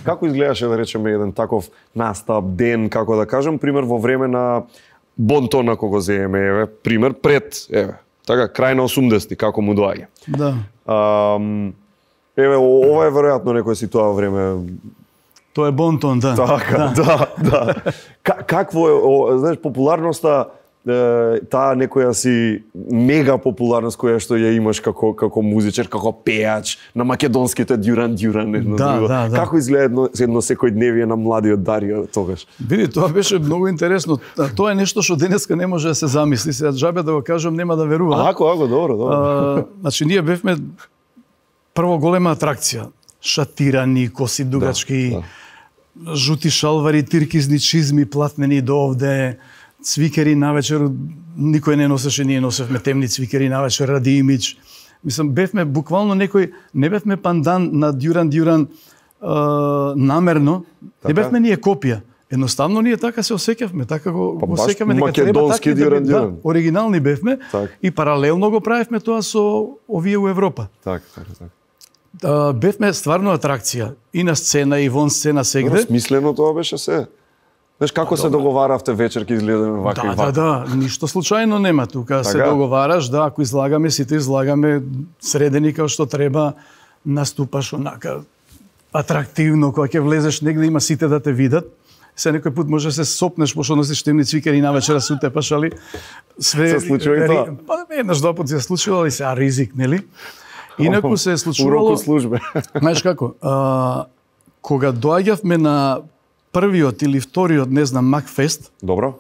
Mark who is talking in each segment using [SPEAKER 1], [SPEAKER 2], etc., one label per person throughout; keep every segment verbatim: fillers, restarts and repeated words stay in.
[SPEAKER 1] Како изгледаше, да речеме, еден таков настап, ден, како да кажем, пример во време на Бонтон, ако го земеме, еве, пример пред, еве, така крај на осумдесети, како му доаѓа.
[SPEAKER 2] Да.
[SPEAKER 1] Ам, еве, ова е веројатно некој си тоа време.
[SPEAKER 2] Тоа е Бонтон, да.
[SPEAKER 1] Така, да, да. да. Какво е, о, знаеш, популярноста, таа некоја си мега популарност која што ја имаш како како музичар, како пеач на македонските Дюран Дюран, едно
[SPEAKER 2] да,
[SPEAKER 1] друго.
[SPEAKER 2] Да, да.
[SPEAKER 1] Како изгледа едно, едно секојдневие на младиот Дарио тогаш?
[SPEAKER 2] Види, тоа беше многу интересно. Тоа е нешто што денеска не може да се замисли. Сега џабе да го кажам, нема да верува.
[SPEAKER 1] Ако, ако, добро, добро.
[SPEAKER 2] А, значи ние бевме прво голема атракција. Шатирани, коси дугачки, да, да. Жути шалвари, тиркизни чизми, платнени до овде. Цвикери навечер, никој не носеше, ние носевме темни цвикери навечер ради имидж. Мислам, бевме буквално некој, не бевме пандан на Дюран Дюран а, намерно, така? Не бевме ние копија. Едноставно ние така се осеќавме, така го,
[SPEAKER 1] па,
[SPEAKER 2] го осеќавме дека треба така
[SPEAKER 1] Дюран,
[SPEAKER 2] да, да, оригинални бевме
[SPEAKER 1] так.
[SPEAKER 2] И паралелно го правевме тоа со овие у Европа.
[SPEAKER 1] Така, така, така.
[SPEAKER 2] А, бевме стварно атракција и на сцена и вон сцена сегде.
[SPEAKER 1] Смислено тоа беше се. Знаеш како се договаравте вечер ке изгледаме вака
[SPEAKER 2] да,
[SPEAKER 1] и вака?
[SPEAKER 2] Да, да, ништо случајно нема тука. Така? Се договараш, да, ако излагаме, сите излагаме средени како што треба, наступаш онака атрактивно, кога ќе влезеш негде има сите да те видат. Се некој пат може да се сопнеш пошто носиш темни цвикери навечера се утепаш, али све
[SPEAKER 1] се случува и тоа.
[SPEAKER 2] Па еднаш два пат се случило, али се а ризик, нели? Инаку се е случувало.
[SPEAKER 1] Уроку службе.
[SPEAKER 2] Знаеш како? А, кога доаѓавме на првиот или вториот, не знам, Макфест.
[SPEAKER 1] Добро.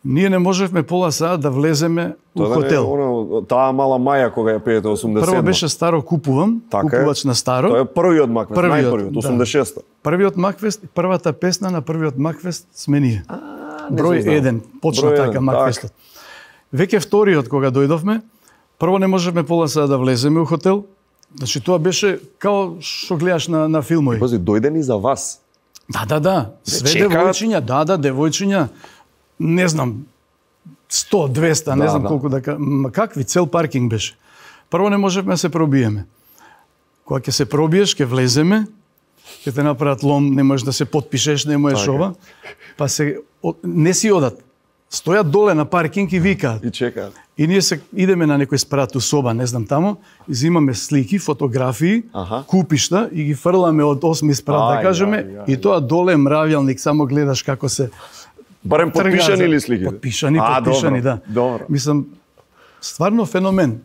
[SPEAKER 2] Ние не можевме пола саат да влеземе у хотел.
[SPEAKER 1] Оно, таа мала маја кога ја пеете осумдесет седма.
[SPEAKER 2] Прво беше Старо купувам,
[SPEAKER 1] така
[SPEAKER 2] купувач на Старо.
[SPEAKER 1] Тоа е првиот Макфест, најпрвиот, осумдесет и шеста.
[SPEAKER 2] Да. Првиот Макфест, првата песна на првиот Макфест сме ние.
[SPEAKER 1] А,
[SPEAKER 2] Број еден, почна
[SPEAKER 1] Број
[SPEAKER 2] така Макфестот. Веќе вториот кога дојдовме, прво не можевме пола саат да влеземе у хотел. Значи тоа беше као што гледаш на на филмови.
[SPEAKER 1] Пази, дојдени за вас.
[SPEAKER 2] Да, да, да. Све
[SPEAKER 1] чекат...
[SPEAKER 2] девојчиња, да, да, девојчиња, не знам, сто, двеста, не
[SPEAKER 1] да,
[SPEAKER 2] знам
[SPEAKER 1] да.
[SPEAKER 2] колку да кажам, какви, цел паркинг беше. Прво не можевме да се пробиеме. Кога ќе се пробиеш, ќе влеземе, ќе те направат лом, не можеш да се потпишеш, не можеш ова, па се, не си одат. Стојат доле на паркинг и викаат.
[SPEAKER 1] И чекаат.
[SPEAKER 2] И ние се идеме на некој спрату соба, не знам тамо, изимаме слики, фотографии,
[SPEAKER 1] Аха.
[SPEAKER 2] купишта и ги фрламе од осми спрат, да кажеме,
[SPEAKER 1] ај, ај,
[SPEAKER 2] и тоа доле мравјалник, само гледаш како се
[SPEAKER 1] барем потпишани ли сликите?
[SPEAKER 2] Потпишани,
[SPEAKER 1] а,
[SPEAKER 2] потпишани,
[SPEAKER 1] добро,
[SPEAKER 2] да.
[SPEAKER 1] Добро.
[SPEAKER 2] Мислам, стварно феномен.